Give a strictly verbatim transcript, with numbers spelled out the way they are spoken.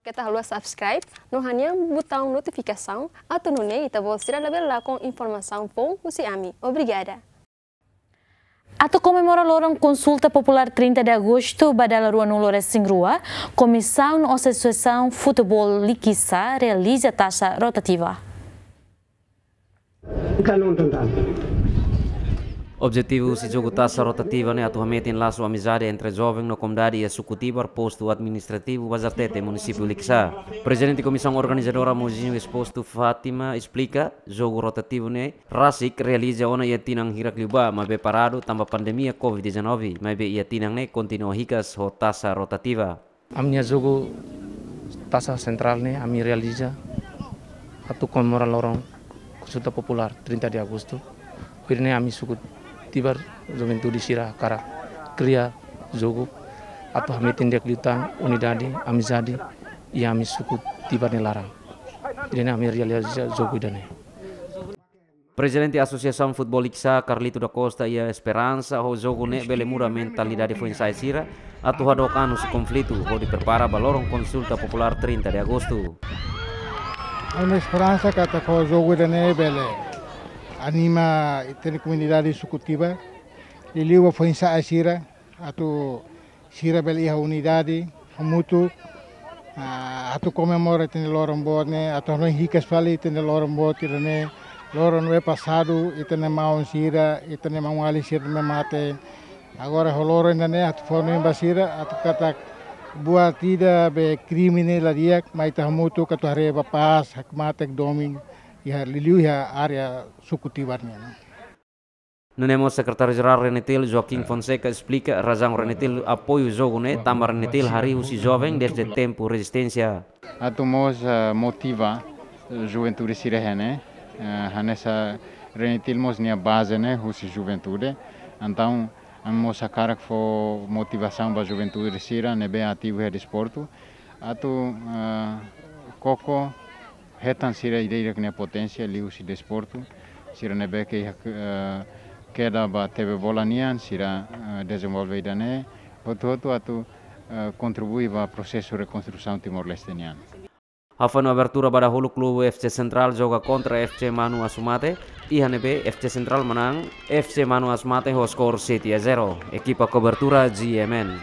Keta haluha subscribe no hanehan butaun notifikasaun atu nune'e ita-boot sira labele lakon informasaun foun husi ami. Obrigada. Atu komemora loron Konsulta Populár trinta de Agostu ba dala ruanulu-resin-rua, Komisaun Asosiasaun Futeból Likisá realiza tasa rotativa. Objetivu husi jogu tasa rotativa ne'e atu hametin lasu amizade entre joven no komunidade iha Suku Tibar, Postu Administrativu Bazartete, Munisípiu Likisá. Prezidente Komisaun Organizadora Mozinho Exposto Fátima esplika, jogu rotativu ne'e rasik realiza ona iha tinan hirak liubá, maibé paradu tanba pandemia covid dezanove, maibé iha tinan ne'e kontinua hikas ho tasa rotativa. Ami-nia jogu tasa sentrál ne'e ami realiza atu komemora loron Konsulta Populár trinta de Agostu. Hodi nune'e ami Suku Tibar juventude sira hakarak kria jogu atu hametin di'ak liután unidade, amizade iha ami Suku Tibar nia laran. Hodi nune'e ami realiza jogu ida-ne'e. Prezidente Asosiasaun Futeból Likisá, Carlito da Costa, iha esperansa ho jogu ne'e bele muda mentalidade foin-sa'e sira atu hadook an husi konflitu hodi prepara ba loron Konsulta Populár trinta de Agostu. Ami esperansa katak ho jogu ida-ne'e bele anima ita-nia komunidade Suku Tibar, liuliu ba foin-sa'e sira, atu sira bele iha unidade hamutuk, ah, atu komemora ita-nia loron boot ne'e, atu hanoin hikas fali ita-nia loron boot ida-ne'e, loron ne'ebé pasadu ita-nia maun sira, ita-nia maun-alin sira ne'e mate. Agora ho loron ida-ne'e atu fó hanoin ba sira atu katak buat ida be krime ne'e la di'ak, mai ita hamutuk atu haree ba pás, hakmatek, domin iha, liuliu iha área Suku Tibar nian. Nune'e mós Sekretáriu Jerál RENETIL, Joaquim Fonseca, esplika razaun RENETIL apoiu jogu ne'e tanba RENETIL harii husi joven dezde tempu rezisténsia. Atu mós, eh, motiva, eh, juventude sira iha ne'e, eh, hanesan RENETIL mós nia baze ne'e husi juventude. Entaun, ami mós hakarak fó motivasaun ba juventude sira ne'ebé ativu iha desportu. Atu, eh, koko hetan sira ida-idak nia poténsia liuhusi desportu, sira ne'ebé ke iha, eh, keda ba tebe bola nian, sira, eh, dezenvolve ida-ne'e, hotu-hotu atu, eh, kontribui ba prosesu rekonstrusaun Timor-Leste nian. Hafoin abertura ba dahuluk klube F C Sentrál joga kontra F C Manu Asumate, iha ne'ebé F C Sentrál manán F C Manu Asumate ho skor sete a zero. Ekipa kobertura G M N.